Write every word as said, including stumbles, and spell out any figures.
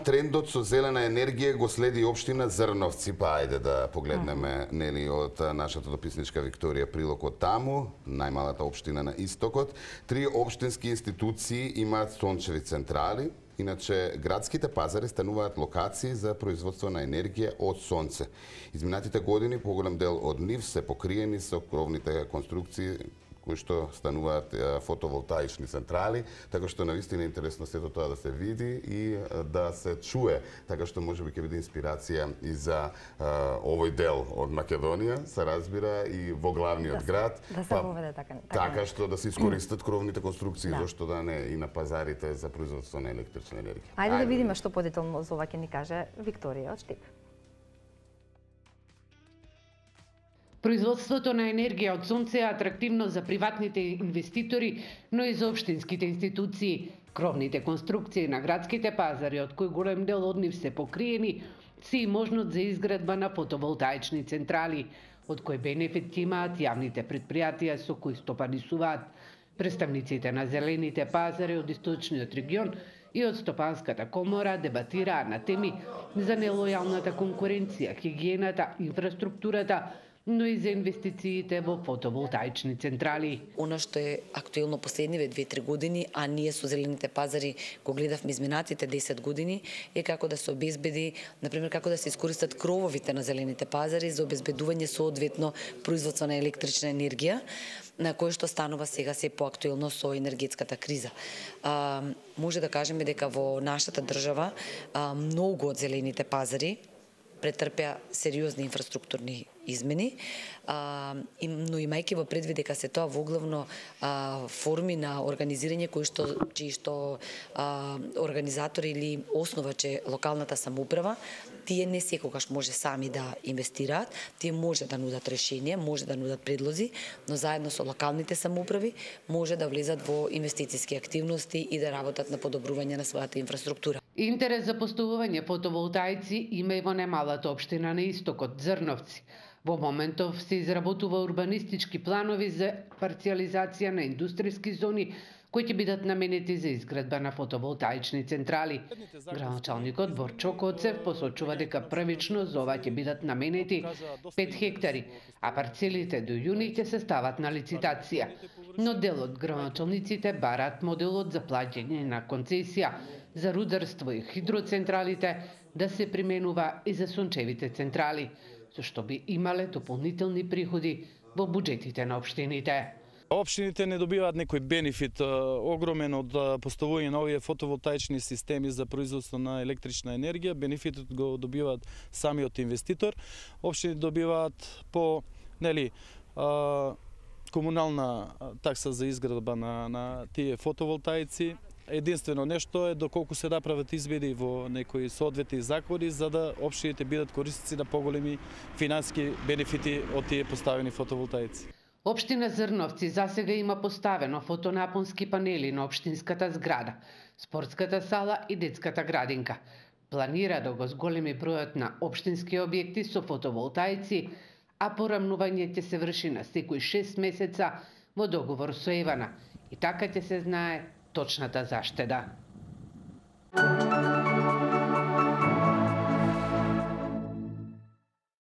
трендот со зелена енергија го следи општина Зрновци, па ајде да погледнеме нели од нашата дописничка Викторија прилог од таму, најмалата општина на истокот. Три општински институции имаат сончеви централи. Иначе, градските пазари стануваат локации за производство на енергија од сонце. Изминатите години поголем дел од нив се покриени со кровните конструкции кои што стануваат фотоволтаични централи, така што навистина е интересно сето тоа да се види и да се чуе, така што можеби ќе биде инспирација и за а, овој дел од Македонија, се разбира и во главниот да, град. Да се поведе така. Така што да се искористат кровните конструкции, да. зашто да не и на пазарите за производство на електрична енергија. Ајде, Ајде да видиме што подетелно за ова ќе ни каже Викторија од Штип. Производството на енергија од сонце е атрактивно за приватните инвеститори, но и за општинските институции. Кровните конструкции на градските пазари, од кои голем дел од нив се покриени, се и можност за изградба на фотоволтаични централи, од кои бенефит ќе имаат јавните предпријатија со кои стопанисуваат. Представниците на зелените пазари од источниот регион и од Стопанската комора дебатираа на теми за нелојалната конкуренција, хигиената, инфраструктурата, но и за инвестициите во фотоволтаични централи. Она што е актуелно последниве две-три години, а ние со зелените пазари го гледавме изминатите десет години, е како да се обезбеди, например, како да се искористат крововите на зелените пазари за обезбедување соодветно производство на електрична енергија, на кој што станува сега се поактуелно со енергетската криза. А, може да кажеме дека во нашата држава а, многу од зелените пазари претрпеа сериозни инфраструктурни измени, а, но имајќи во предвид дека се тоа во главно а, форми на организирање кои што чии што а, организатори или основач е локалната самоуправа, тие не секогаш може сами да инвестираат, тие може да нудат решение, може да нудат предлози, но заедно со локалните самоуправи може да влезат во инвестициски активности и да работат на подобрување на својата инфраструктура. Интерес за поставување фотоволтаици има и во немалата општина на истокот, Зрновци. Во моментов се изработува урбанистички планови за парциализација на индустријски зони кои ќе бидат наменети за изградба на фотоволтаични централи. Градоначалникот Борчо Коцев посочува дека првично за ова ќе бидат наменети пет хектари, а парцелите до јуни ќе се стават на лицитација. Но дел од градоначалниците бараат моделот за плаќање на концесија за рударство и хидроцентралите да се применува и за сончевите централи, со што би имале дополнителни приходи во буџетите на општините. Општините не добиваат некој бенефит огромен од поставување на овие фотоволтаични системи за производство на електрична енергија. Бенефитот го добиваат самиот инвеститор. Општините добиваат по нели комунална такса за изградба на на тие фотоволтаици. Единствено нешто е доколку се направат изведи во некои соодветни закони за да општините бидат корисници на поголеми финансиски бенефити од тие поставени фотоволтаици. Општина Зрновци засега има поставено фотонапонски панели на општинската зграда, спортската сала и детската градинка. Планира да го зголеми бројот на општински објекти со фотоволтаици, а порамнување ќе се врши на секои шест месеца во договор со Евана. И така ќе се знае точната заштеда.